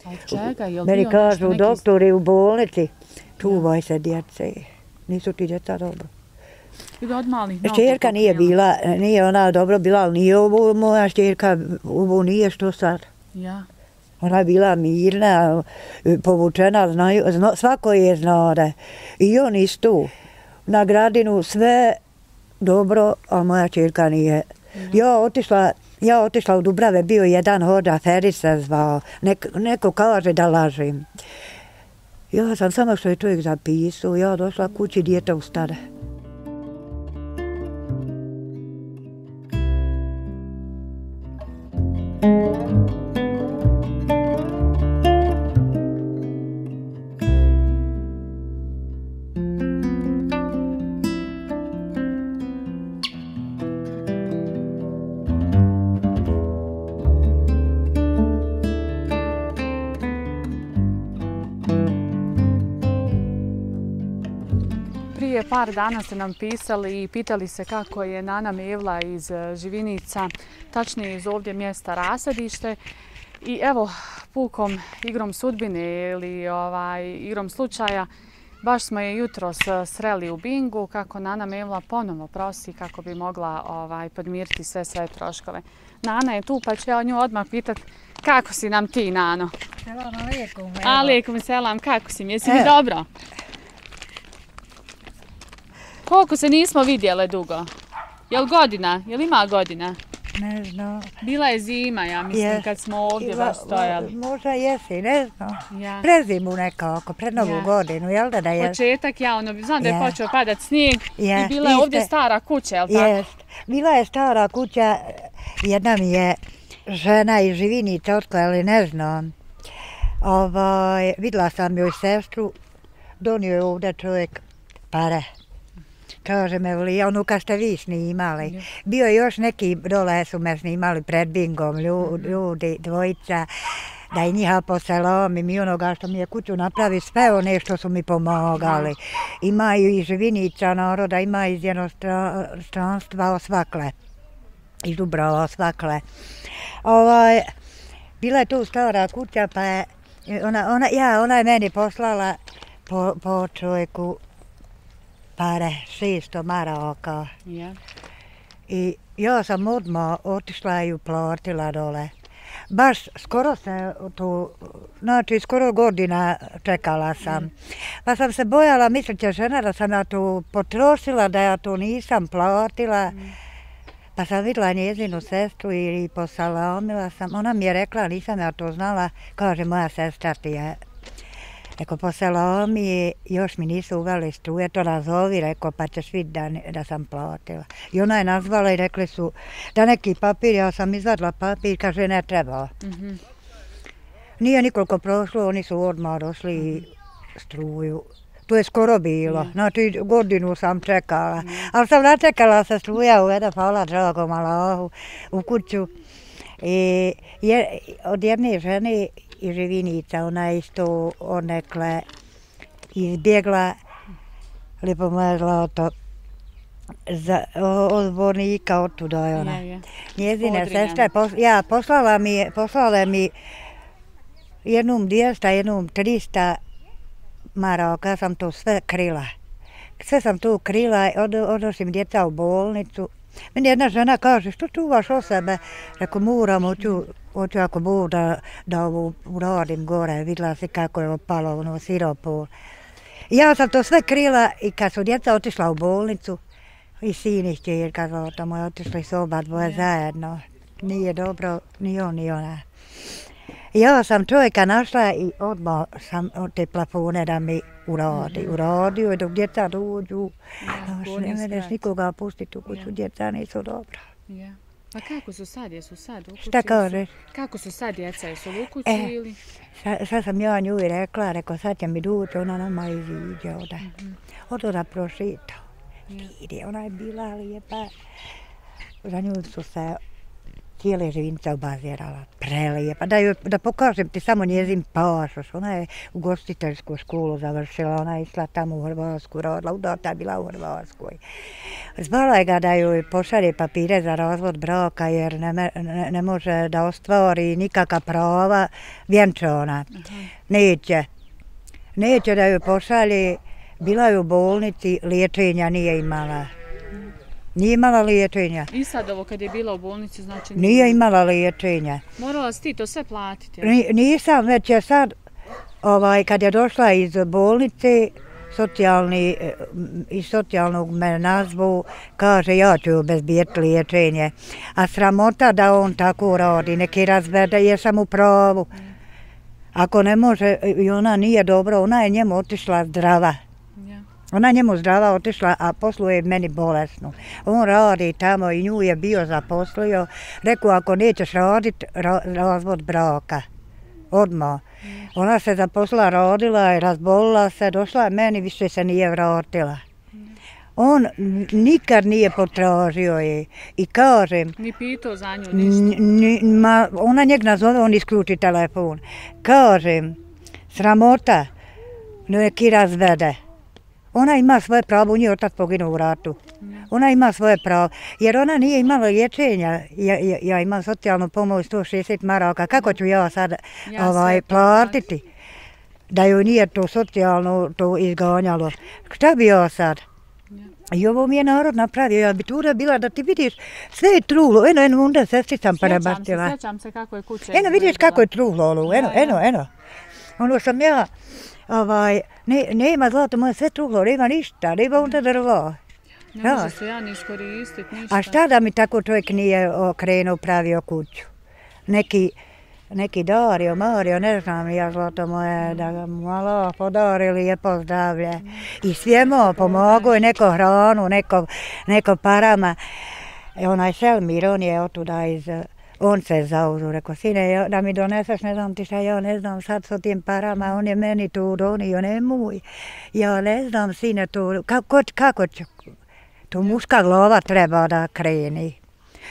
A od čega? Je li Meni bio kažu nešto doktori u bolnici, čuvaj se djece, nisu ti djeca dobro. Ili od malih nogu? Šćerka nije bila, nije ona dobro bila, ali nije ovo moja šćerka, ovo nije što sad. Ja. Ona je bila mirna, povučena, svako je znao da. I on isto. Na Gradinu sve dobro, a moja čerka nije. Ja otišla u Dubrave, bio jedan hođa, Feris se zvao. Neko kaže da lažem. Ja sam samo što je čovjek zapisao, ja došla kući, dijete ustade. Prije par dana ste nam pisali i pitali se kako je Nana Mevla iz Živinica, tačnije iz ovdje mjesta Rasadište. I evo, pukom igrom sudbine ili igrom slučaja, baš smo je jutros sreli u bingu kako Nana Mevla ponovo prosi kako bi mogla podmiriti sve svoje troškove. Nana je tu pa ću ja nju odmah pitat kako si nam ti, Nano? Selam alaikum. Alaikum selam, kako si? Jesi mi dobro? Koliko se nismo vidjele dugo? Jel godina? Jel ima godina? Ne znam. Bila je zima, ja mislim, kad smo ovdje baš stojali. Možda jesi, ne znam. Ja. Pred zimu nekako, pred novu godinu, jel da je? Početak, znam da je počeo padat snijeg i bila je ovdje stara kuća, jel tako? Jest. Bila je stara kuća, jedna mi je žena iz Živinica otkla, ali ne znam. Vidjela sam joj sestru, donio je ovdje čovjek pare. Kaže me, ono kad ste vi snimali. Bio je još neki dole su me snimali pred bingom, ljudi, dvojica, da je njiha poselomim i onoga što mi je kuću napravi, sve one što su mi pomagali. Imaju iz Živinica naroda, ima iz jednostranstva osvakle, iz Dubrava osvakle. Bila je tu stara kuća, pa je, ona je meni poslala po čovjeku pare, 600 maraka. I ja sam odmah otišla i uplatila dole. Baš skoro se tu, znači skoro godina čekala sam. Pa sam se bojala, misleće žena da sam ja tu potrošila, da ja tu nisam platila. Pa sam vidjela njezinu sestru i posalamila sam. Ona mi je rekla, nisam ja to znala, kaže moja sestra ti je. Rekao, posalami, još mi nisu uveli struje, to nazovi, rekao, pa ćeš vidjeti da sam platila. I ona je nazvala i rekli su da neki papir, ja sam izvadila papir, kaže ne treba. Nije nikoliko prošlo, oni su odmah došli i struju. To je skoro bilo, znači godinu sam čekala. Ali sam načekala se struja uvede, hvala dragom Allahu, u kuću. I od jedne žene iz Živinica, ona je isto odnekle izbjegla, lijepo moja zlato, od zbornika, otuda je ona. Njezine sestre, poslala mi jednom 200, jednom 300 maraka, ja sam to sve krila. Sve sam to krila, odnosim djeca u bolnicu. Meni jedna žena kaže, što čuvaš o sebe? Rekao, moram, hoću ako Bog da ovo uradim gore, vidjela si kako je opalo ono siropo. Ja sam to sve krila i kad su djeca otišla u bolnicu, i sin i čerka zlata moja, otišli su oba dvoje zajedno. Nije dobro, ni on ni ona. Ja sam čovjeka našla i odmah sam od te plafone da mi uradi. Uradio i dok djeca dođu, ne mereš nikoga pustiti u kuću, djeca nisu dobra. A kako su sad? Jesu sad u kući? Šta kažeš? Kako su sad djeca? Jesu u kući ili? Sad sam ja nju i rekla, rekao sad će mi doći, ona nama iziđe ovdje. Odo da prošitao. Vidi, ona je bila lijepa. Za nju su se cijele živinice obazirala. Prelijepa. Da pokažem ti samo njezin pasoš. Ona je ugostiteljsku školu završila. Ona je išla tamo u Hrvatsku, rodila. Udata je bila u Hrvatskoj. Zvala je ga da joj pošalje papire za razvod braka jer ne može da ostvari nikakva prava vjenčana. Neće. Neće da joj pošalje. Bila je u bolnici, liječenja nije imala. Nije imala liječenja. I sad ovo kad je bila u bolnici znači... Nije imala liječenja. Morala si ti to sve platiti? Nisam, već je sad, kad je došla iz bolnice, iz socijalnog me nazvu, kaže ja ću obezbijeti liječenje. A sramota da on tako radi, neki razvede, jer sam u pravu. Ako ne može, i ona nije dobro, ona je njemu otišla zdrava. Ona njemu zdrava otišla, a posluje meni bolesnu. On radi tamo i nju je bio zaposlio. Rekao, ako nećeš raditi, razvod braka. Odmah. Ona se zaposlila, rodila i razbolila se, došla meni, više se nije vratila. On nikad nije potražio je i kažem... Ni pitao za nju ništa? Ona njeg nazove, on isključi telefon. Kažem, sramota, neki razvede. Ona ima svoje pravo, u njoj otac poginuo u ratu. Ona ima svoje pravo, jer ona nije imala liječenja. Ja imam socijalnu pomoć 160 maraka. Kako ću ja sad platiti? Da joj nije to socijalno to izganjalo. Šta bi ja sad? I ovo mi je narod napravio. Ja bi tuda bila da ti vidiš sve je trulo. Eno, onda sestri sam prebacila. Sjećam se kako je kuća izgledala. Vidiš kako je trulo. Eno. Ono sam ja... nema zlato moje, sve truhlo, nema ništa, nema onda drvo. Ne može se ja ni iskoristiti, ništa. A šta da mi tako čovjek nije okrenuo, pravio kuću? Neki Dario, Mario, ne znam ja zlato moje, da ga malo podari, lijepo zdravlje. I svijemo pomogu i neko hranu, neko parama. Onaj Selmir, on je otuda iz... On se zauzu, rekao, sine, da mi doneseš, ne znam ti šta, ja ne znam sad s tim parama, on je meni tu donio, nemoj. Ja ne znam, sine, tu, kako će, tu muška glava treba da kreni.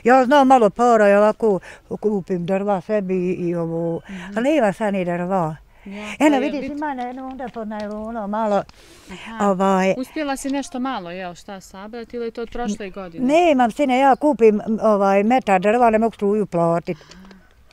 Ja znam malo para, ja ovako kupim drva sebi i ovo, ali nema sad ni drva. Eno, vidiš, ima onda pod najluno malo. Uspjela si nešto malo, šta sabrati ili je to od prošle godine? Nemam, sine, ja kupim metar drva, ne mogu struju platiti.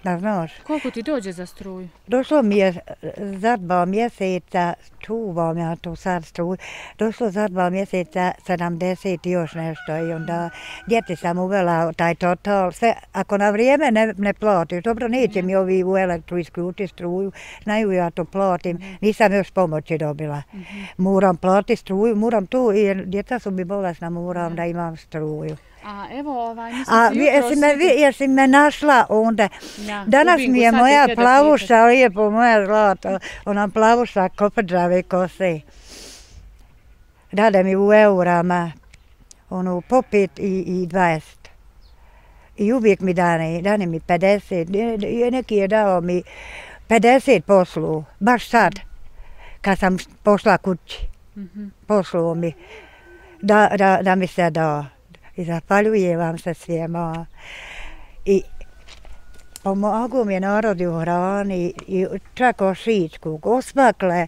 Da znaš. Koliko ti dođe za struju? Došlo mi je za 2 mjeseca, čuvam ja tu sad struju, došlo za 2 mjeseca 70 i još nešto i onda djeti sam uvela taj total, sve, ako na vrijeme ne platiš, dobro neće mi ovi u elektru isključiti struju, znaju ja to platim, nisam još pomoći dobila. Moram platiti struju, moram tu, jer djeca su mi bolesna, moram da imam struju. A evo, jesi me našla onda. Danas mi je moja plavuša, lijepo moja zlato, ona plavuša koprđave kose. Dade mi u eurama, ono po 5 i 20. I uvijek mi dane mi 50, neki je dao mi 50 poslu, baš sad, kad sam pošla kući, poslu mi, da mi se dao. I zahvaljujem vam se svijema. I pomogu mi je narodi u hrani i čak ošičku, osmakle,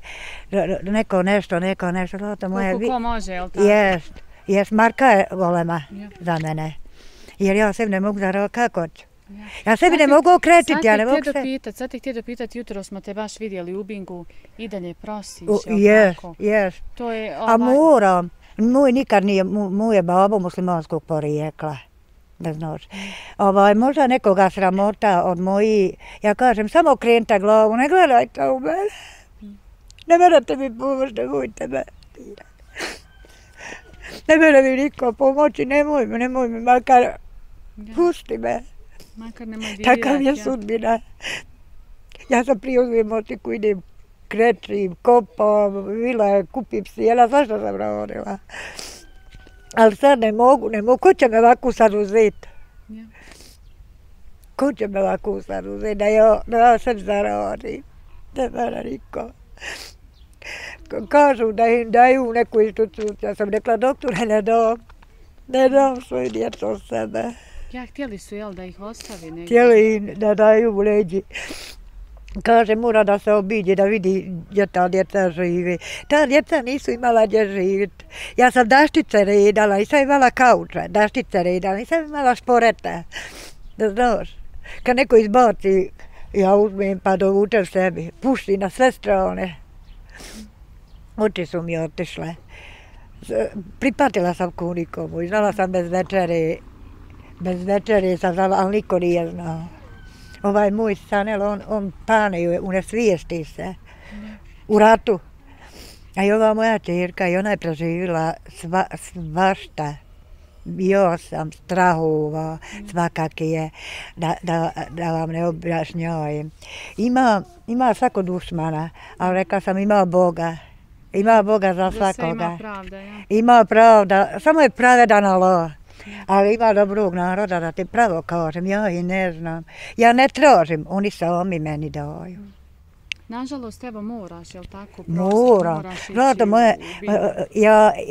neko nešto. Koliko ko može, jel tako? Jest, Marka je golema za mene. Jer ja sebi ne mogu zaraditi kako ću. Ja sebi ne mogu okretiti, ja ne mogu se... Sad te htio pitati, jutro smo te baš vidjeli u Bingu i dalje prosiš, jel tako? Jest. A moram. Nikad nije, moje babo muslimanskog porijekla, da znaš. Možda nekoga sramota od moji, ja kažem, samo okrenite glavu, ne gledajte u mene. Ne morate mi pomoći, nemojte me. Ne mora mi niko pomoći, nemoj mi, makar pusti me. Makar nemoj dirati. Takav je sudbina. Ja sam prije uzmem motiku, idem krećim, kopam, kupim sjela, svašta sam radila. Ali sad ne mogu, ko će me ovako sad uzeti? Ko će me ovako sad uzeti, da ja sad zaradim? Ne mora niko. Kažu da im daju neku instituciju, ja sam rekla, doktore, ne dam svoju djecu od sebe. Ja, htjeli su, jel, da ih ostavi negdje? Htjeli im da daju u leđi. Kaže, mora da se obiđe, da vidi gdje ta djeca živi. Ta djeca nisu imala gdje živjeti. Ja sam daštice redala, nisam imala kauča, daštice redala, nisam imala šporeta. Da znaš, kad neko izbaci, ja uzmem pa dovučem sebi, pušti na sve strane. Oči su mi otišle. Pripatila sam ku nikomu i znala sam bez večere sam znala, ali niko nije znao. Ovaj moj Sanel, on pane, unesvijesti se u ratu. A i ova moja čerka, i ona je preživjela svašta. Bio sam strahova, svakak je, da vam ne objašnjavam. Ima svako dušmana, ali rekla sam ima Boga. Ima Boga za svakoga. Ima pravda, ja? Ima pravda, samo je pravedan Allah. Ali ima dobrog naroda, da ti pravo kažem, ja i ne znam. Ja ne tražim, oni sami meni daju. Nažalost, evo moraš, jel tako? Moram. Zlato moje,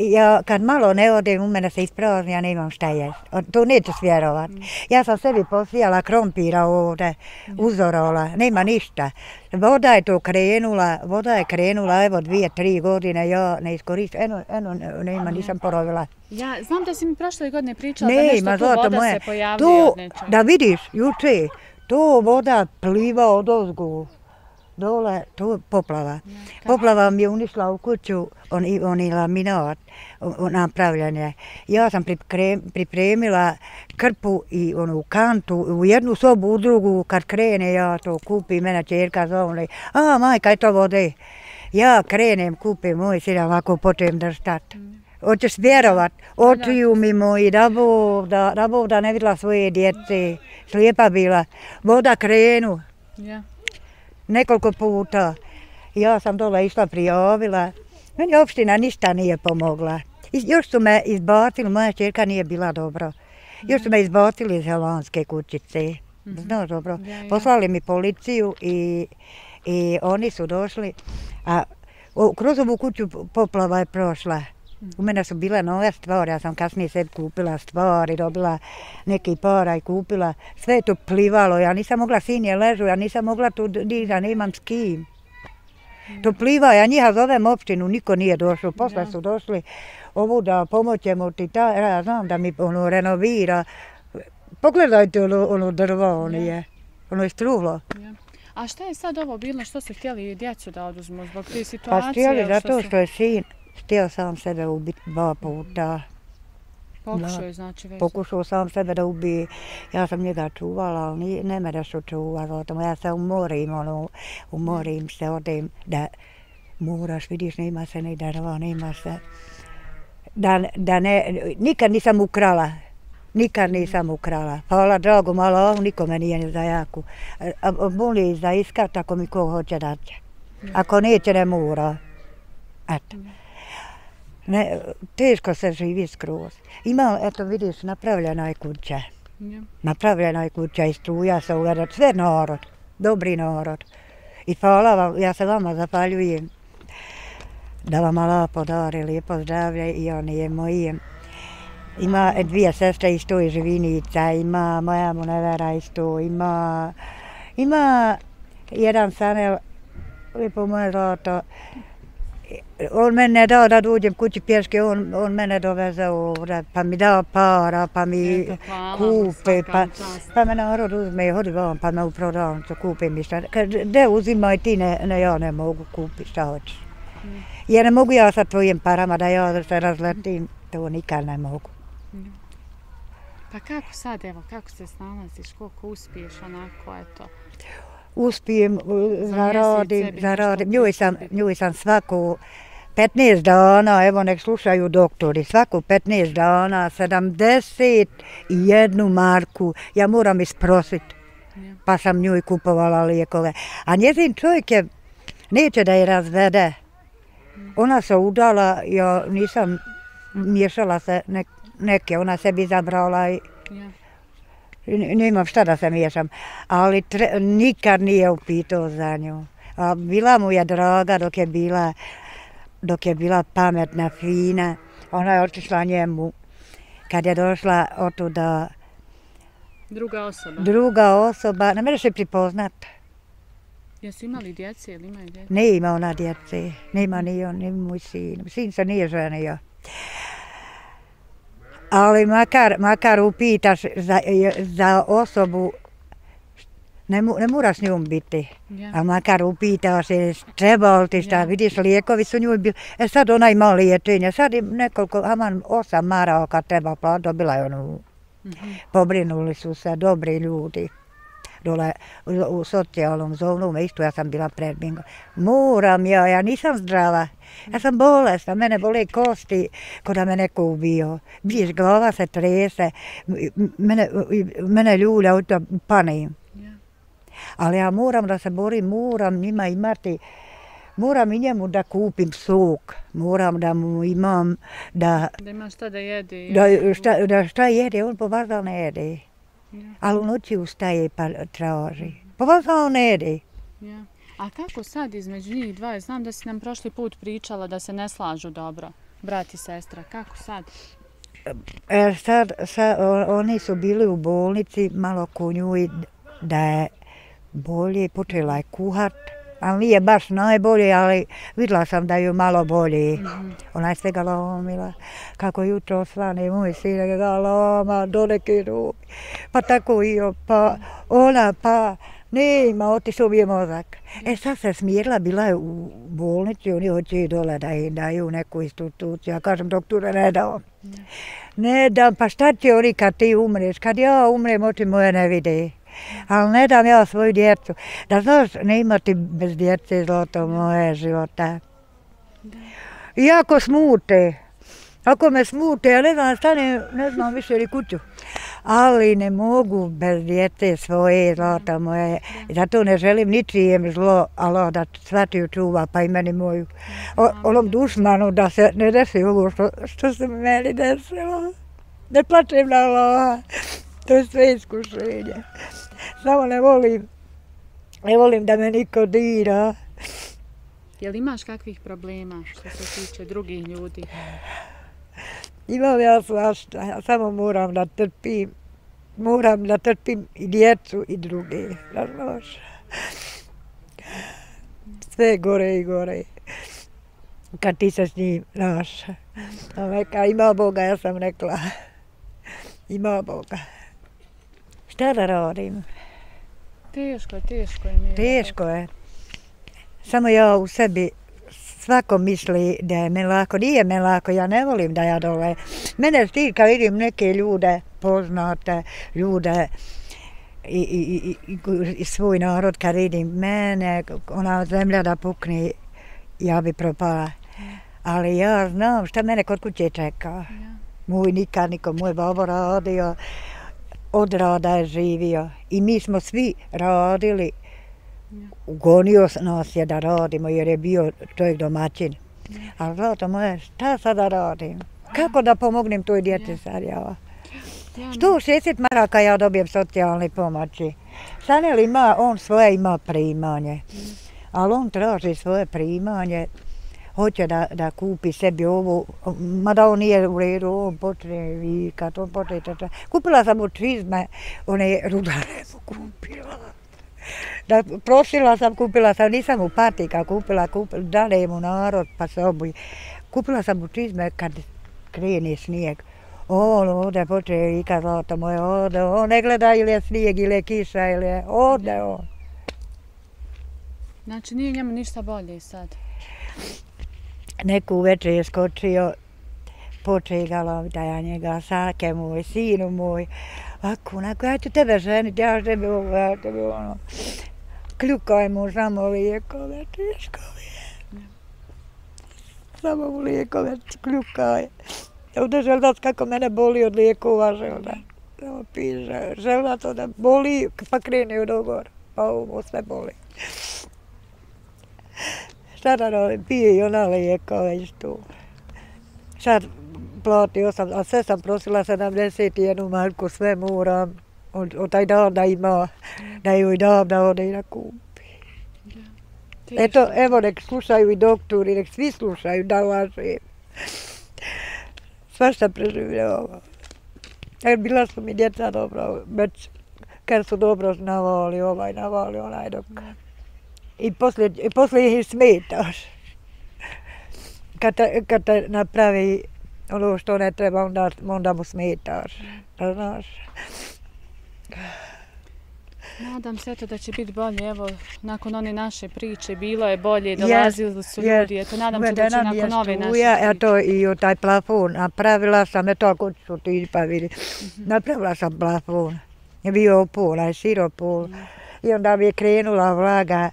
ja kad malo ne odem, u mene se isprazni, ja nemam šta jest. To nećeš vjerovat. Ja sam sebi posijala krompira ovdje, uzorola, nema ništa. Voda je krenula, evo 2-3 godine, ja ne iskoristim, nema, nisam porovila. Ja znam da si mi prošle godine pričala da nešto tu voda se pojavljuje od nečega. Da vidiš, juče, to voda pliva od ozgu. Dole, to poplava. Poplava mi je unišla u kuću, oni laminat napravljanje. Ja sam pripremila krpu i onu kantu u jednu sobu, u drugu, kad krene ja to kupim, mene čerka zove, a majka je to vode. Ja krenem, kupim moj sin, ovako počnem držat. Hoćeš vjerovat, očiju mi moji, da Bog da ne vidjela svoje djece, slijepa bila, voda krenu. Nekoliko puta. Ja sam dole išla prijavila. Meni opština ništa nije pomogla. Još su me izbacili, moja čerka nije bila dobro. Još su me izbacili iz Helanske kućice. Znaš dobro. Poslali mi policiju i oni su došli. A kroz ovu kuću poplava je prošla. U mene su bile nove stvari, ja sam kasnije sebi kupila stvari, dobila neki para i kupila. Sve je to plivalo, ja nisam mogla, sin je ležu, ja nisam mogla tu da nemam s kim. To pliva, ja njiha zovem opštinu, niko nije došao, posle su došli ovu da pomoćemo ti, ja znam da mi ono renovira. Pogledajte ono drvo, ono je struvlo. A šta je sad ovo bilo, što su htjeli djecu da oduzmu zbog te situacije? Pa htjeli zato što je sin. Htio sam sebe ubiti 2 puta. Pokušao je znači već? Pokušao sam sebe da ubije. Ja sam njega čuvala, ali ne me da su čuvala. Ja se umorim se, odem da moraš, vidiš, nema se ni drva, nema se. Nikad nisam ukrala. Nikad nisam ukrala. Hvala drago, malo, nikome nije ni za jaku. Boli za iskat ako mi ko hoće dati. Ako neće, ne mora. Eto. Teško se živi skroz. Ima, eto vidiš, napravljena je kuća. Napravljena je kuća i struja se uvede. Sve narod, dobri narod. I hvala vam, ja se vama zahvaljujem da vam Allah podari lijepo zdravlje i oni je moji. Ima 2 sestre isto iz Živinica, ima moja Munevera isto, ima jedan Sanel, lijepo moje zlato. On mene ne dao da dođem kući pješke, on mene doveze ovdje, pa mi dao para, pa mi kupe, pa me narod uzme, hodi vam, pa me u prodavnicu kupe mi šta. Gdje uzimaj ti, ja ne mogu kupiti šta hoćeš. Jer ne mogu ja sa tvojim parama da ja se razletim, to nikad ne mogu. Pa kako sad, evo, kako se snalaziš, koliko uspiješ onako, eto? Uspijem, zaradim, njuj sam svaku 15 dana, evo nek slušaju doktori, svaku 15 dana, 71 marku, ja moram isprositi, pa sam njuj kupovala lijekove. A njezin čovjek neće da je razvede. Ona se udala, ja nisam miješala se neke, ona sebi izabrala i nemam šta da se miješam, ali nikad nije upitao za nju. A bila mu je draga dok je bila pametna, fina. Ona je otišla njemu kad je došla otuda Druga osoba? Druga osoba, ne može se pripoznat. Jesu imali djece ili imaju djece? Ne ima ona djece, nema ni on, ni moj sin. Sin se nije ženio. Ali makar upitaš za osobu, ne moraš s njom biti. A makar upitaš se treba li ti šta, vidiš lijekovi su njoj bili. Sad ona ima liječenje, sad im nekoliko, 8 maraka kad treba platiti, dobila je onu. Pobrinuli su se dobri ljudi. Dole u socijalnom zonu, isto ja sam bila pred Bingo. Moram ja nisam zdrava. Ja sam bolesna, mene bole kosti ko da me neko ubio. Vidiš, glava se trese, mene ljulja u to panim. Ali ja moram da se borim, moram njima imati, moram i njemu da kupim sok, moram da mu imam da... Da ima šta da jede. Da šta jede, on po vazal ne jede. Ali u noći ustaje pa traži. Po vazal ne jede. A kako sad između njih dva? Znam da si nam prošli put pričala da se ne slažu dobro, brat i sestra. Kako sad? Sad oni su bili u bolnici, malo ko njuj da je bolje, počela je kuhat. Ali nije baš najbolje, ali vidjela sam da ju malo bolje. Ona je sve ga lomila. Kako jutro svane, moj sin ga loma do neke ruke. Pa tako i pa ona, pa nema, otišao bi je mozak. Sad se smirila, bila je u bolnici, oni hoće dole da im daju neku instituciju. Ja kažem, doktore, ne dam. Ne dam, pa šta će oni kad ti umreš? Kad ja umrem, oči moje ne vide. Ali ne dam ja svoju djecu. Da znaš, ne imati bez djece zlato moje života. Iako smute, ako me smute, ja ne znam, stanem, ne znam više ni kuću. Ali ne mogu bez djece svoje zlata moje. Zato ne želim ničijem zlo, ali da svatiju čuva, pa i meni moju. Onom dušmanu da se ne desi ovo što se meni desilo. Ne plačem na Allaha. To je sve iskušenje. Samo ne volim da me niko dira. Jel imaš kakvih problema što se tiče drugih ljudi? Imam ja svašta, ja samo moram da trpim. Moram da trpim i djecu i druge. Sve gore i gore. Kad ti se s njim, znaš. Neka ima Boga, ja sam rekla. Ima Boga. Šta da radim? Teško je. Teško je. Samo ja u sebi, svako misli da je me lako. Nije me lako, ja ne volim da ja dole. Mene stid kad vidim neke ljude, poznate ljude i svoj narod kad vidim mene, ona zemlja da pukne, ja bi propala. Ali ja znam šta mene kod kuće čeka. Moj nikad niko, moj babo radio. Od rada je živio i mi smo svi radili. Ugonio nas je da radimo jer je bio čovjek domaćin. Ali zlato moje, šta sada radim? Kako da pomognem toj djeci sad ja? 160 maraka ja dobijem socijalne pomoći. Sanel ima, on svoje ima primanje. Ali on traži svoje primanje. Hoće da kupi sebi ovo, mada on nije u redu, on počne vikat, on počne čača. Kupila sam mu čizme, one rudare mu kupila. Prosila sam, kupila sam, nisam mu patika kupila, dale mu narod pa se obuji. Kupila sam mu čizme kad krene snijeg. On ode počne vikat, zlato moje, ode, on ne gleda ili je snijeg ili je kiša ili je, ode on. Znači nije njemu ništa bolje sad? Neku večer je skočio, poče ga loviti, a ja njega, sake moj, sinu moj, onako, ja ću tebe ženiti, ja tebi ovo, ja tebi ono. Kljukaj mu samo lijekove, teško mi je. Samo mu lijekove kljukaj. Ovdje želdac kako mene boli od lijekova želda. Samo piše, želdac onda boli, pa krene u dogor, pa ovo sve boli. Šta da radim, pije i ona lijekove isto. Sad platio sam, a sve sam prosila 71 marku, sve moram. Od taj dan da ima, da joj dam da ode i da kupi. Eto, evo nek slušaju i doktori, nek svi slušaju da lažem. Svašta preživljava. Bila su mi djeca dobro, već Kad su dobro navali onaj dok. I poslije ih smetaš. Kad te napravi ono što ne treba, onda mu smetaš. Znaš. Nadam se eto da će biti bolje, evo, nakon one naše priče, bilo je bolje, dolazili su ljudi, eto, nadam se da će nakon ove naše priče. Eto, i taj plafon, napravila sam, eto, ako su ti pa vidi, napravila sam plafon, je bio onaj siropol, i onda mi je krenula vlaga,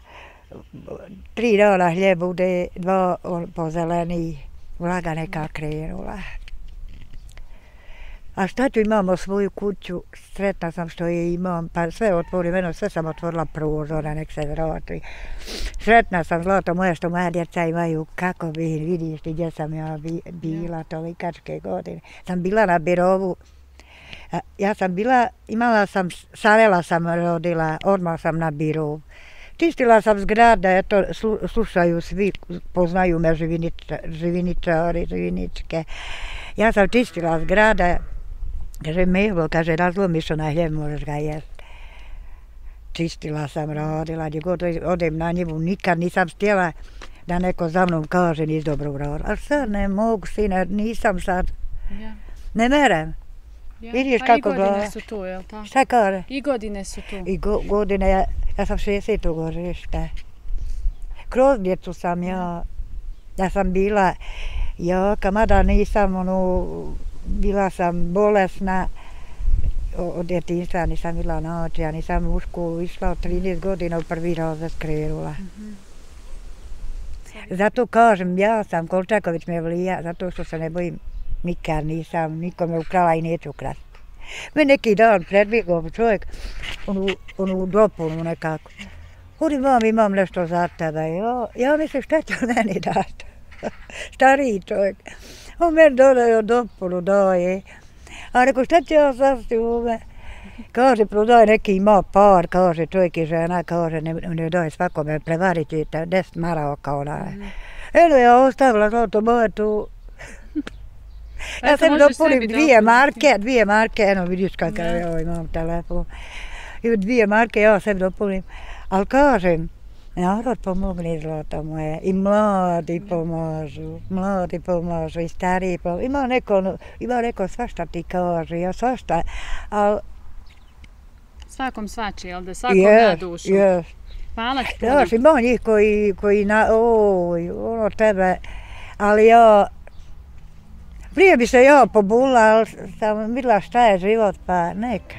3 dana hljeb bude, 2 pozeleni, vlaga neka krenula. A šta tu imamo svoju kuću, sretna sam što je imam, pa sve otvorim, sve sam otvorila prozora, nek se vrati. Sretna sam, zlato moje, što moja djeca imaju, kako bi vidiš ti gdje sam ja bila tolikačke godine. Sam bila na birovu, ja sam bila, Savela sam rodila, odmah sam na birovu. Čistila sam zgrada, eto, slušaju svi, poznaju me živiničari, živiničke. Ja sam čistila zgrada, kaže Mehlo, kaže razlomiš onaj hljeb, možeš ga jesti. Čistila sam, radila, gdje god odem na njivu, nikad nisam htjela da neko za mnom kaže nis dobro uradila. Ali sad ne mogu, sine, nisam sad, ne merem. Vidiš kako gleda. I godine su tu, jel tako? Šta kaže? I godine su tu. I godine, ja sam 60. godište. Kroz djecu sam ja sam bila jaka, mada nisam, bila sam bolesna od djetinjstva, nisam bila noć, ja nisam u školu išla od 13 godina u 1. razred krenula. Zato kažem, ja sam Kolčaković Mevlija, zato što se ne bojim, nikad nisam nikome ukrala i neću krasti. Me neki dan predbjegao čovjek, onu dopunu nekako. Hodi mam, imam nešto za tebe. Ja mislim šta će meni dati. Stariji čovjek. On meni dodaje dopunu, daje. A rekao šta će ja sasti u me? Kaže, prodaje neki ima par, kaže čovjek i žena, kaže ne daje svakome, prevarit ćete 10 maraka onaj. Eno ja ostavila zlato moje tu. Ja sam dopunim 2 marke, eno vidiš kakav ja imam telefon. I 2 marke ja sebi dopunim. Ali kažem, narod pomogne zlato moje i mladi pomažu i stariji pomažu. Ima neko svašta ti kaže, ja svašta, ali... Svakom svači, jel da svakom na dušu? Jes. Hvala ti puno. Znaš, ima njih koji ono tebe, ali ja... Prije bi se ja pobunila, ali sam vidjela šta je život, pa neka.